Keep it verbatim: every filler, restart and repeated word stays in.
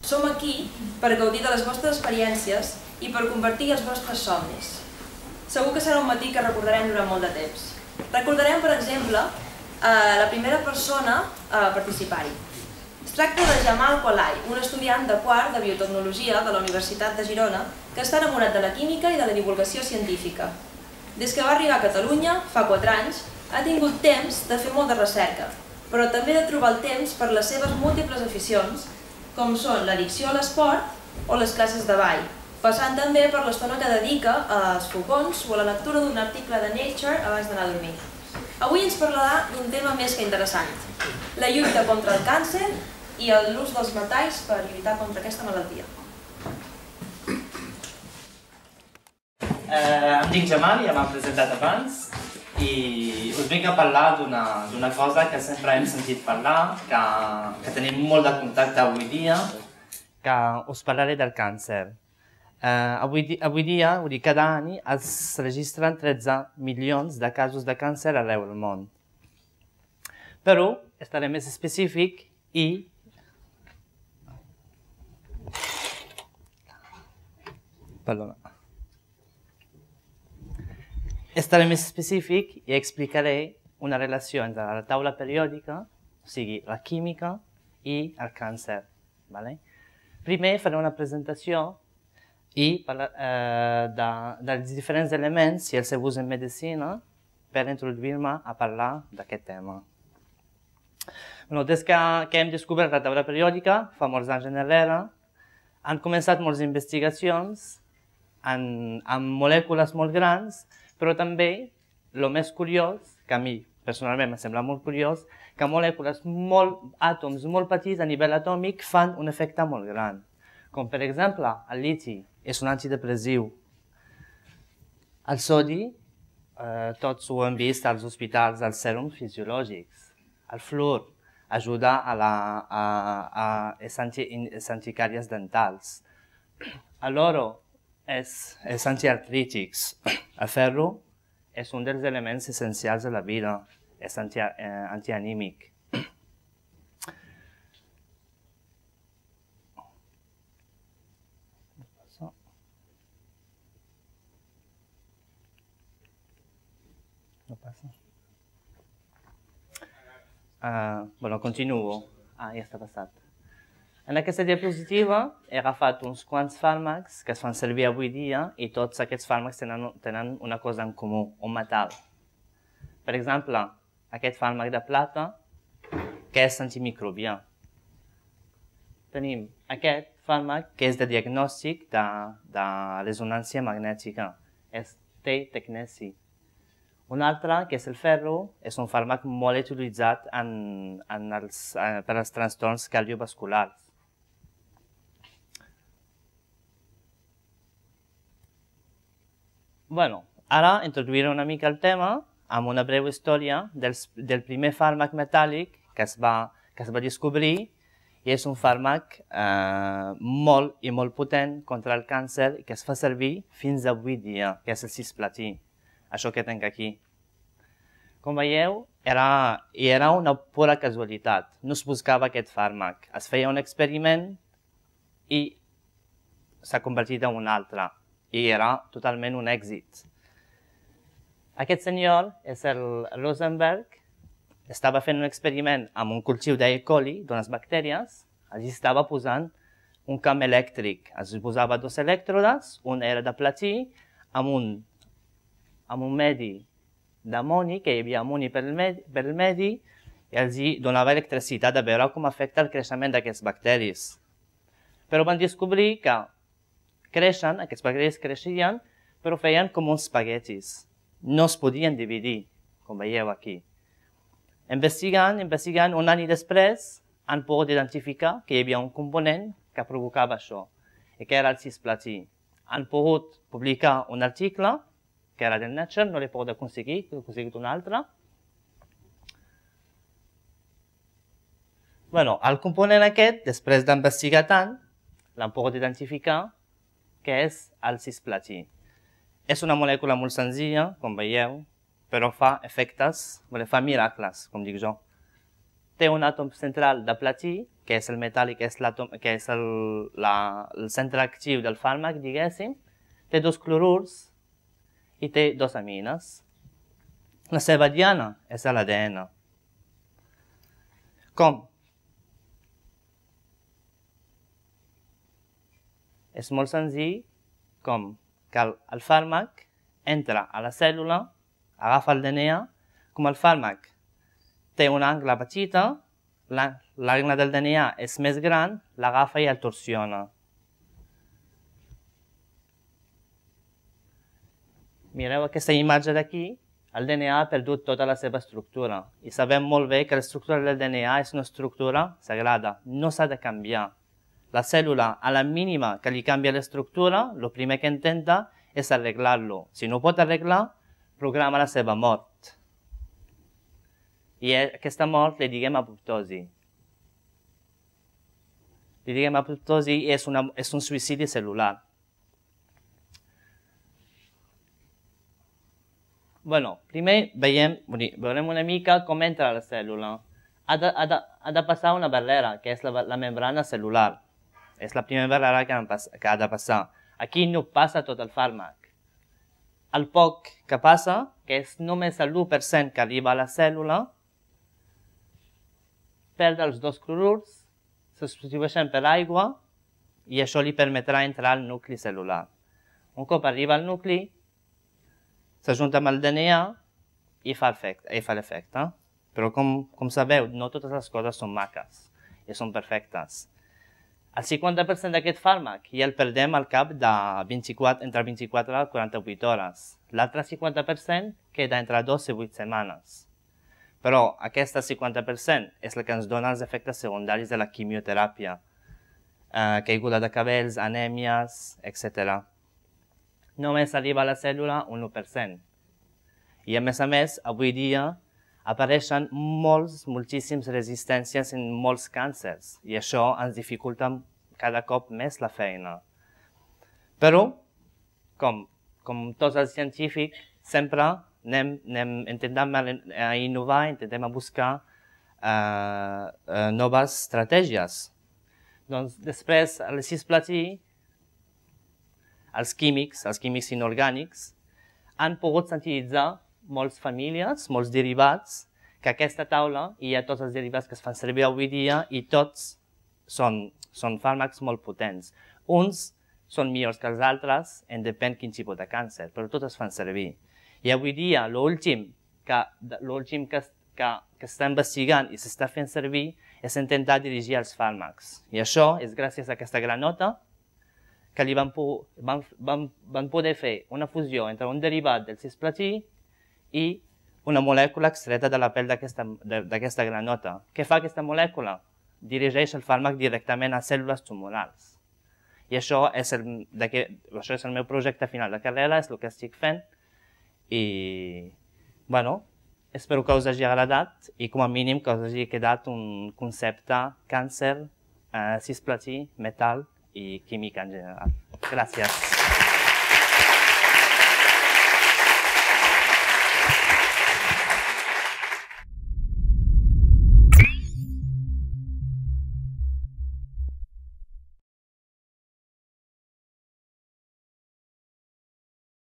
Som aquí per gaudir de les vostres experiències i per convertir els vostres somnis. Segur que serà un matí que recordarem durant molt de temps. Recordarem, per exemple, la primera persona a participar-hi. Es tracta de Jamal Qualai, un estudiant de quart de biotecnologia de la Universitat de Girona que està enamorat de la química i de la divulgació científica. Des que va arribar a Catalunya, fa quatre anys, ha tingut temps de fer molta recerca, però també de trobar el temps per les seves múltiples aficions, com són l'addicció a l'esport o les classes de ball, passant també per l'estona que dedica als fogons o a la lectura d'un article de Nature abans d'anar a dormir. Avui ens parlarà d'un tema més que interessant, la lluita contra el càncer i l'ús dels metalls per lluitar contra aquesta malaltia. Em dic Jamal, ja m'han presentat abans, i us vinc a parlar d'una cosa que sempre hem sentit parlar, que tenim molt de contacte avui dia, que us parlaré del càncer. Avui dia, cada any, es registren tretze milions de casos de càncer arreu del món. Però estaré més específic i Perdona. Estaré més específic i explicaré una relació entre la taula periòdica, o sigui, la química i el càncer. Primer faré una presentació i dels diferents elements i el seu ús en medicina per introduir-me a parlar d'aquest tema. Des que hem descobert la taula periòdica, fa molts anys enrere, han començat moltes investigacions amb molècules molt grans, però també, el més curiós, que a mi personalment em sembla molt curiós, que molècules, àtoms molt petits a nivell atòmic fan un efecte molt gran. Com per exemple, el liti és un antidepressiu. El sodi, tots ho hem vist als hospitals, als sèrums fisiològics. El fluor ajuda a les anticàries dentals. L'oro és antiartrítics. El ferro és un dels elements essencials de la vida, és antianímic. No passa. Bueno, continuo. Ah, ja està passat. En aquesta diapositiva he agafat uns quants fàrmacs que es fan servir avui dia i tots aquests fàrmacs tenen una cosa en comú, un metall. Per exemple, aquest fàrmac de plata, que és antimicrobià. Tenim aquest fàrmac que és de diagnòstic de resonància magnètica, té tecneci. Un altre, que és el ferro, és un fàrmac molt utilitzat per als trastorns cardiovasculars. Bueno, ara introduiré una mica el tema amb una breu història del primer fàrmac metàl·lic que es va descobrir i és un fàrmac molt i molt potent contra el càncer que es fa servir fins avui dia, que és el cisplatí. Això que tinc aquí. Com veieu, era una pura casualitat. No es buscava aquest fàrmac. Es feia un experiment i s'ha convertit en un altre. I era totalment un èxit. Aquest senyor és el Rosenberg. Estava fent un experiment amb un cultiu d'E. coli, d'unes bactèries. Allí estava posant un camp elèctric. Es posava dos elèctrodes, un era de platí, amb un amb un medi d'amoni, que hi havia amoni per el medi, i els donava electricitat a veure com afecta el creixement d'aquests bacteris. Però van descobrir que creixen, aquests bacteris creixien, però feien com uns espaguetis. No es podien dividir, com veieu aquí. Investigant, investigant, un any després, han pogut identificar que hi havia un component que provocava això, i que era el cisplatí. Han pogut publicar un article que era del Nature, no l'he pogut aconseguir, he aconseguit un altre. Bueno, el component aquest, després d'investigar tant, l'han pogut identificar, que és el cisplatí. És una molècula molt senzilla, com veieu, però fa efectes, fa miracles, com dic jo. té un àtom central de platí, que és el metàl·lic, que és, que és el, la, el centre actiu del fàrmac, diguéssim, té dos clorurs i té dos amines. La seva diana és l'A D N. Com? És molt senzill, com que el, el fàrmac entra a la cèl·lula, agafa el D N A, com el fàrmac té una angle petita, l'angle del D N A és més gran, l'agafa i el torsiona. Mireu aquesta imatge d'aquí, el D N A ha perdut tota la seva estructura i sabem molt bé que l'estructura del D N A és una estructura sagrada, no s'ha de canviar. La cèl·lula, a la mínima que li canvia l'estructura, el primer que intenta és arreglar-lo. Si no ho pot arreglar, programa la seva mort. I aquesta mort li diguem apoptosi. Li diguem apoptosi i és, una, és un suïcidi cel·lular. Bueno, primer veiem, veurem una mica com entra la cèl·lula. Ha de, ha de, ha de passar una barrera, que és la, la membrana cel·lular. És la primera barrera que, que ha de passar. Aquí no passa tot el fàrmac. El poc que passa, que és només l'u per cent que arriba a la cèl·lula, perd els dos clorurs, se substitueixen per aigua i això li permetrà entrar al nucli cel·lular. Un cop arriba al nucli, s'ajunta amb el D N A i fa l'efecte. Però com, com sabeu, no totes les coses són maques i són perfectes. El cinquanta per cent d'aquest fàrmac ja el perdem al cap de vint-i-quatre, entre vint-i-quatre i quaranta-vuit hores. L'altre cinquanta per cent queda entre dos i vuit setmanes. Però aquest cinquanta per cent és el que ens dona els efectes secundaris de la quimioteràpia. Eh, caiguda de cabells, anèmies, etcètera. Només arriba a la cèl·lula un u per cent. I a més a més, avui dia, apareixen molts, moltíssimes resistències en molts càncers i això ens dificulta cada cop més la feina. Però, com, com tots els científics, sempre anem, anem, intentem innovar, intentem buscar eh, eh, noves estratègies. Doncs després, el cisplatí, els químics, els químics inorgànics, han pogut sintetitzar moltes famílies, molts derivats, que a aquesta taula hi ha tots els derivats que es fan servir avui dia i tots són, són fàrmacs molt potents. Uns són millors que els altres, en depèn quin tipus de càncer, però tots es fan servir. I avui dia l'últim que, que, que, que està investigant i s'està fent servir és intentar dirigir els fàrmacs. I això és gràcies a aquesta granota que li van, van, van, van poder fer una fusió entre un derivat del cisplatí i una molècula extreta de la pell d'aquesta granota. Què fa aquesta molècula? Dirigeix el fàrmac directament a cèl·lules tumorals. I això és el, això és el meu projecte final de carrera, és el que estic fent. I, bueno, espero que us hagi agradat i com a mínim que us hagi quedat un concepte càncer, eh, cisplatí, metal i química en general. Gràcies.